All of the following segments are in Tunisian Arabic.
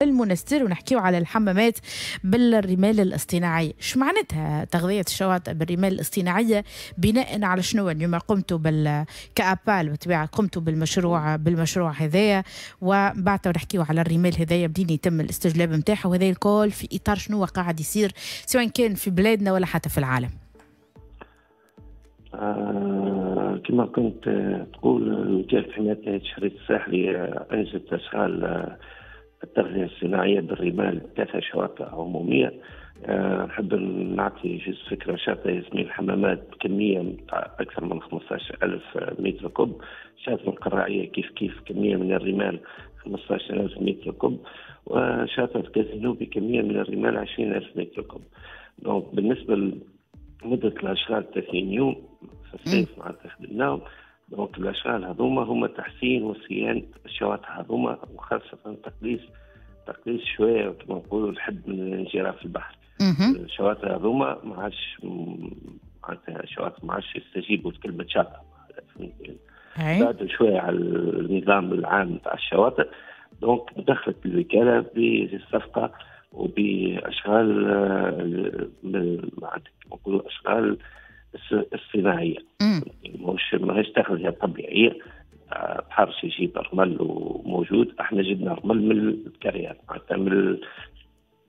المنستير ونحكيو على الحمامات بالرمال الاصطناعية. شو معناتها تغذية الشواطئ بالرمال الاصطناعية؟ بناء على شنو اليوم قمتوا كأبال بالطبيعة قمتوا بالمشروع هذايا، وبعد نحكيو على الرمال هذايا بدين يتم الاستجلاب نتاعها، وهذا الكل في إطار شنو قاعد يصير سواء كان في بلادنا ولا حتى في العالم. كما كنت تقول، وكالة حماية الشريط الساحلي أنجزت أشغال التغذية الصناعية بالرمال 3 شواطئ عمومية. نحب نعطي juste فكرة، شاطئ ياسمين الحمامات بكمية أكثر من 15,000 mètre cube، شاطئ القراعية كيف كيف كمية من الرمال 15,000 mètre cube، وشاطئ الكازينو بكمية من الرمال 20,000 mètre cube. donc بالنسبة لمدة الأشغال 30 يوم في الصيف معناتها خدمناهم. donc الأشغال هذوما هما تحسين وصيانة الشواطئ هذوما، وخاصة تقليص شوية كما نقولوا الحد من الانجراف البحري. الشواطئ هذوما ما عادش معناتها الشواطئ ما عادش يستجيبوا لكلمة شاطئ، بعدوا شوية على النظام العام تاع الشواطئ. donc دخلت الوكالة بالصفقة وبأشغال معناتها كما نقولوا أشغال الصناعية، مش ماهيش تغذية طبيعية. بحر يجيب رمل وموجود، احنا جبنا رمل من ال carrière، معناتها من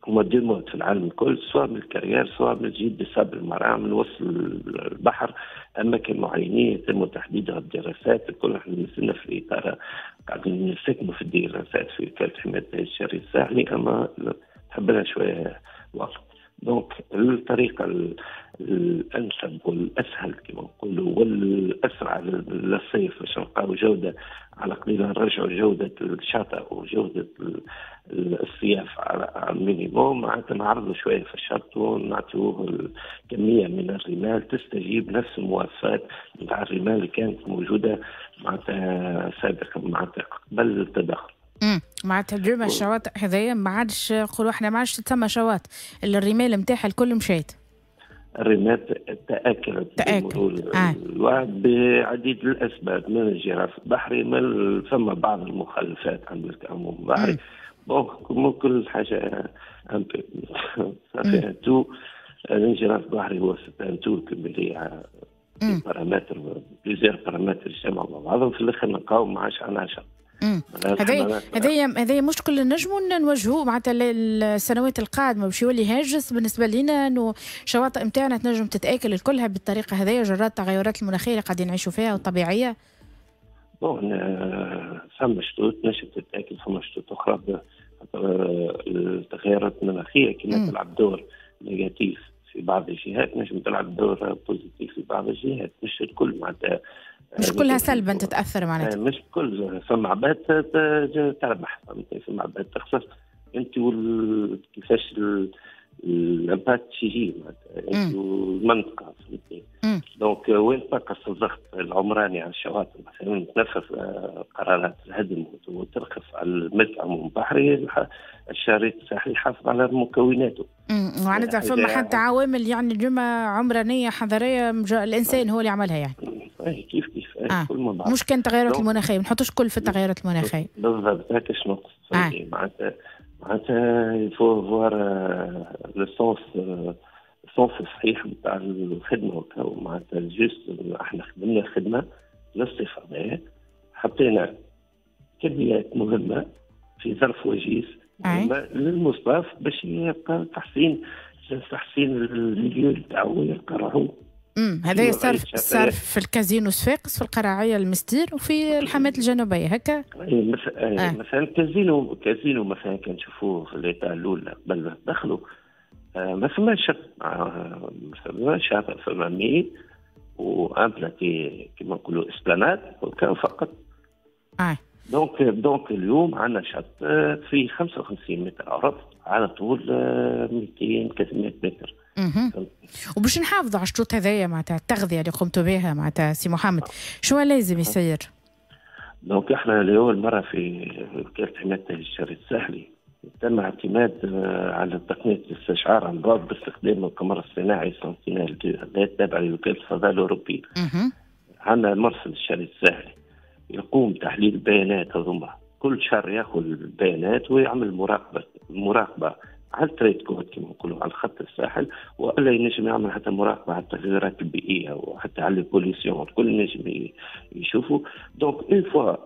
هما deux modes في العالم الكل، سواء من ال carrière سواء من تجيب ب sable marin من وسط البحر، اماكن معينة يتم تحديدها بالدراسات الكل. احنا مازلنا في الاطار قاعدين نستكملوا في الدراسات في وكالة حماية الشريط الساحلي، اما تحب لها شوية وقت. donc الطريقة الأنسب والأسهل كما نقولوا والأسرع للصيف باش نلقاو جودة على قليلة، نرجعوا جودة الشاطئ وجودة الصياف على ال minimum، معناتها نعرضوا شوية في الشط ونعطيوه كمية من الرمال تستجيب نفس المواصفات نتاع الرمال اللي كانت موجودة معناتها سابقا، معناتها قبل التدخل. معناتها اليوم الشواطئ هذايا ما عادش نقولوا احنا ما عادش تسمى شواطئ، الرمال نتاعها الكل مشات. الرمال تآكلت بمرور الوقت بعديد الاسباب، من الجراف البحري، من فما بعض المخلفات عند العموم البحري. bon كل حاجة un peu ça fait un tout. الانجراف البحري هو un tout cumulé paramètres، plusieurs paramètres يجتمعوا مع بعضهم، في الاخر نلقاو ما عادش عندنا شط. هذايا مشكل نجموا نواجهوه معناتها السنوات القادمة، باش يولي هاجس بالنسبة لنا انه الشواطئ نتاعنا تنجم تتاكل الكلها بالطريقة هذيا جرات التغيرات المناخية اللي قاعدين نعيشوا فيها والطبيعيه. bon فما شطوط نجم تتاكل، فما شطوط اخرى التغيرات المناخية كما تلعب دور négatif في بعض الجهات، نجم تلعب دور positif في بعض الجهات، مش الكل معناتها. مش كلها سلبا تتاثر معناتها. مش كل، فما عباد تربح، فما عباد تخسر. انت كيفاش ال impact يجي معناتها انت والمنطقة، فهمتني. donc وين تنقص الضغط العمراني على الشواطئ مثلا، تنفذ قرارات الهدم وترخص على الملك العموم البحري، الشريط الساحلي يحافظ على مكوناته. معناتها فما حتى عوامل يعني اليوم عمرانيه حضارية الانسان هو اللي عملها يعني. كيف كيف كل ما بعض. مش كان تغيرات المناخية، ما نحطوش كل في التغيرات المناخية. بالضبط، هكا شنو نقصد. معناتها il faut voir le sens الصحيح نتاع الخدمة. معناتها juste احنا خدمنا الخدمة للصيف هذايا، حطينا كميات مهمة في ظرف وجيز مهمة للمصطاف باش يلقى تحسين ال milieu نتاعو ويلقى روحو. هذا صار في الكازينو صفاقس، في القراعيه المستير، وفي الحمامات الجنوبية هكا. مثلا كازينو مثلا كان نشوفوه في l'état الاولى قبل ما دخلوا، ما فماش شط، ما فماش شاطئ، فما مي و un plateau كيما نقولوا esplanade وكان فقط. Donc اليوم عندنا شط في 55 متر عرض على طول 200 300 متر. وباش نحافظوا على الشطوط هذايا معناتها التغذية اللي قمتوا بها معناتها سي محمد، شو لازم يصير؟ donc احنا لاول مرة في وكالة حماية الشريط الساحلي تم اعتماد على تقنية الاستشعار عن بعد باستخدام القمر الصناعي سنتينيل 2 هذا التابع لوكالة الفضاء الاوروبية. عندنا مرصد الشريط الساحلي يقوم تحليل البيانات هذوما كل شهر ياخذ البيانات ويعمل مراقبة على ال trait de côte كما نقولوا، على خط الساحل، والا ينجم يعمل حتى مراقبة على التغيرات البيئية وحتى على ال pollution، الكل ينجم يشوفوا. donc une fois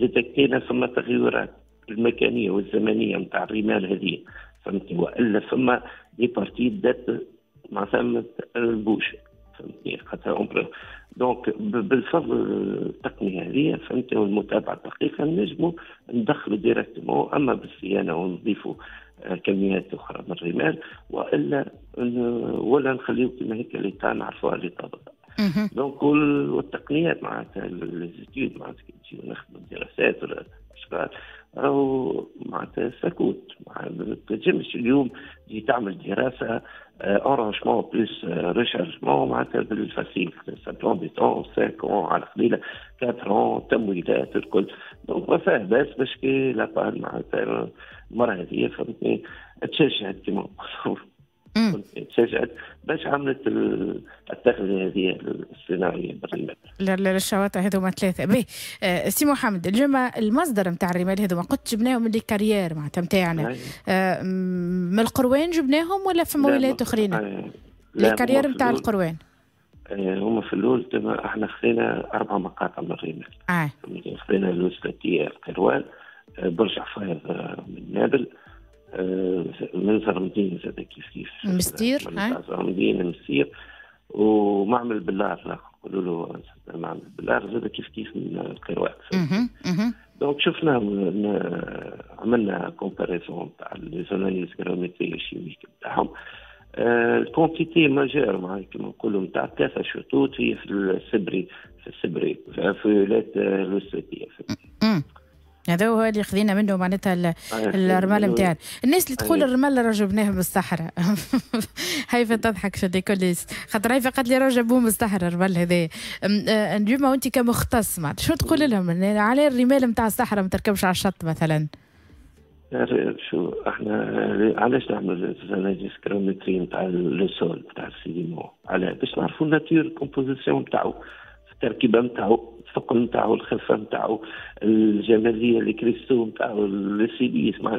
détectينا ثم تغيرات المكانية والزمنيه نتاع الرمال هذه، فهمتني، والا ثم des parties بدات معناتها ال bouge، فهمتني، خاطر donc بالفضل التقنية هذه، فهمتني، والمتابعة الدقيقة نجموا ندخلوا directement، اما بالصيانه ونضيفوا كميات اخرى من الرمال، والا ولا نخليو كما هيك l'état نعرفوها l'état بالضبط. donc والتقنيات معناتها les études معناتها كي نجيو نخدموا دراسات ولا اشغال راهو معناتها ça coûte. ما تنجمش اليوم تجي تعمل دراسة enrochement plus rechargement معناتها بال facile، ça prend du temps، 5 على قليله، 4، تمويلات الكل. donc ما فيها باس باش كي l'APAL معناتها المرة هذه، فهمتني، تشجعت كيما نقولوا، تشجعت باش عملت التغذية هذه الصناعية بالرمال. للشواطئ هذوما ثلاثه. باهي سي محمد، اليوم المصدر نتاع الرمال هذوما قلت جبناهم من les carrières معناتها نتاعنا من القروان جبناهم ولا في ولايات اخرين؟ les carrières نتاع القروان. هما في الاول احنا خذينا اربع مقاطع من الرمال. خذينا الوسلاتيه القيروان، برج حفيظ من نابل، من زرمدين زاد كيف كيف. مستير. زرمدين مستير، ومعمل بلار، نقولوا له معمل بلار زاد كيف كيف من القيروان. donc شفنا، عملنا comparaison تاع les analyses granulométriques chimiques نتاعهم. ال quantité majeure معناها كيما نقولوا نتاع ثلاثة شطوط هي في السبري في ولاية الوسلاتيه. هذا هو اللي خذينا منه معناتها الرمال نتاعنا. الناس اللي تقول الرمال راه جبناه من الصحراء، هيفا تضحك شدي كل خاطر هيفا قالت لي راه جابوه من الصحراء الرمال هذا. اليوم وانت كمختص معناتها شو تقول لهم على الرمال نتاع الصحراء ما تركبش على الشط مثلا؟ شو احنا علاش نعمل analyses granulométriques نتاع le sol نتاع ال sédiment؟ على باش نعرفوا nature composition نتاعو، التركيبة نتاعو، الثقل نتاعو، الخفة نتاعو، الجماليه، les cristaux نتاعو، ال silice مع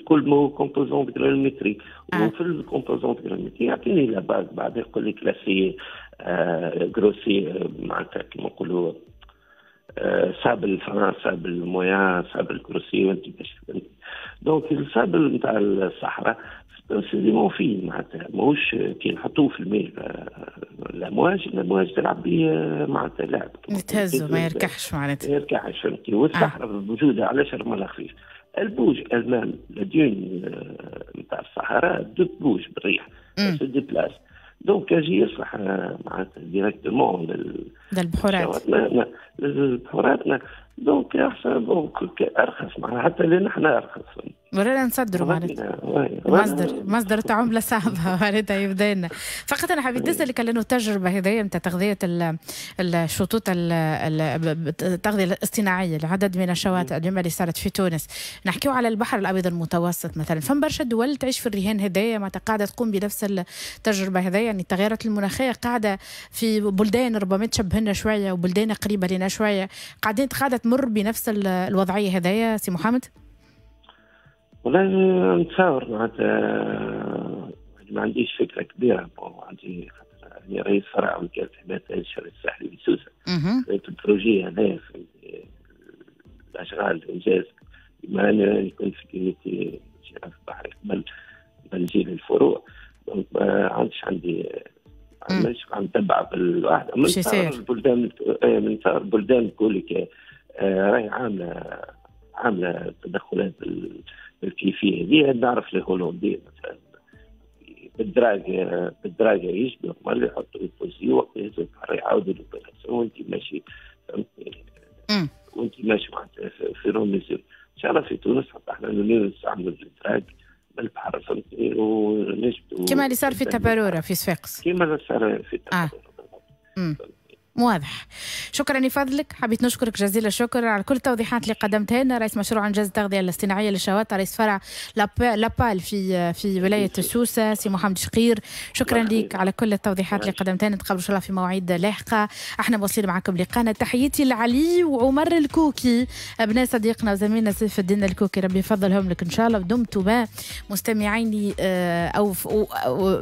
كل ما هو composante granulométrique. وفي ال composante granulométrique يعطيني la base، بعد يقول لك classé grossier معناتها كيما نقولوا sable fin، sable moyen، sable grossier، وانت باش. donc ال sable نتاع الصحراء sédiment fin معناتها ماهوش كي نحطوه في الماء الامواج تلعب به معناتها لعب. يتهزوا، ما يركحش معناتها. ما يركحش، فهمتي. والصحراء بوجودها علاش رملها خفيف؟ elle bouge elle-même، la dune نتاع الصحراء bouge بالريح، se déplace. donc يجي يصلح معناتها directement للبحورات. للبحورات. donc احسن، donc ارخص معناها حتى لنا احنا ارخص. ولا نصدروا معناتها مصدر تاع عمله صعبة معناتها يبدا لنا. فقط انا حبيت نسالك لانه التجربة هذه نتاع تغذية الشطوط، التغذية الاصطناعيه لعدد من الشواطئ اليوم اللي صارت في تونس، نحكيو على البحر الابيض المتوسط مثلا، فما برشا دول تعيش في الرهان هذايا معناتها قاعدة تقوم بنفس التجربة هذايا، يعني التغيرات المناخية قاعدة في بلدان ربما تشبهنا شوية وبلدان قريبه لنا شوية قاعدة تمر بنفس الوضعية هذايا سي محمد؟ والله نتصور معناتها ما عنديش فكرة كبيره. bon، عندي خاطر يعني رئيس فرع وكالة حماية الشريط الساحلي بسوسه، في ال projet هذا في الاشغال الانجاز، بما اني كنت في comité اشراف البحري قبل نجي للفروع، donc ما عندش عندي مش عم نتبع بالواحد. من البلدان، من البلدان الكل راهي عامله تدخلات بالكيفية هذه. نعرف الهولندي مثلا بال drague يجبدوا الرمل يحطوا يبوزيو، وقت يهزوا البحر يعاودوا l'opération وانت ماشي، فهمتني، وانت ماشي معناتها في روميزيو. ان شاء الله في تونس حتى احنا نستعملوا ال drague بالبحر، فهمتني، ونجبدوا. كما اللي صار في تبارورة في صفاقس. كما اللي صار في تبارورة. واضح. شكرا لفضلك، حبيت نشكرك جزيل الشكر على كل التوضيحات اللي قدمتها لنا، رئيس مشروع انجاز التغذية الاصطناعيه للشواطئ، رئيس فرع l'APAL في ولاية سوسه، سي محمد شقير. شكرا لك على كل التوضيحات اللي قدمتها لنا، نتقابل ان شاء الله في مواعيد لاحقه. احنا مواصلين معكم لقانا. تحياتي لعلي وعمر الكوكي، ابناء صديقنا وزميلنا سيف الدين الكوكي، ربي يفضلهم لك ان شاء الله، ودمتم مستمعين او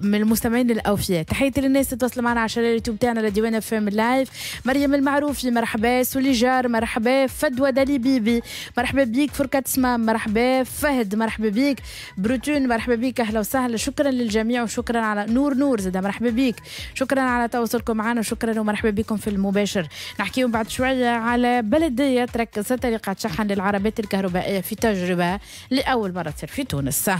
من المستمعين الاوفياء. تحياتي للناس اللي تواصلوا معنا على اليوتيوب تاعنا لديوان FM live. مريم المعروفي مرحبا، سوليجار مرحبا، فدوى دالي بيبي مرحبا بيك، فركة سمام مرحبا، فهد مرحبا بيك، بروتون مرحبا بيك، اهلا وسهلا. شكرا للجميع وشكرا على نور نور زاد مرحبا بيك، شكرا على تواصلكم معنا وشكرا ومرحبا بكم في المباشر. نحكيو بعد شوية على بلديه تركز طريقه شحن للعربات الكهربائية في تجربه لاول مرة تصير في تونس.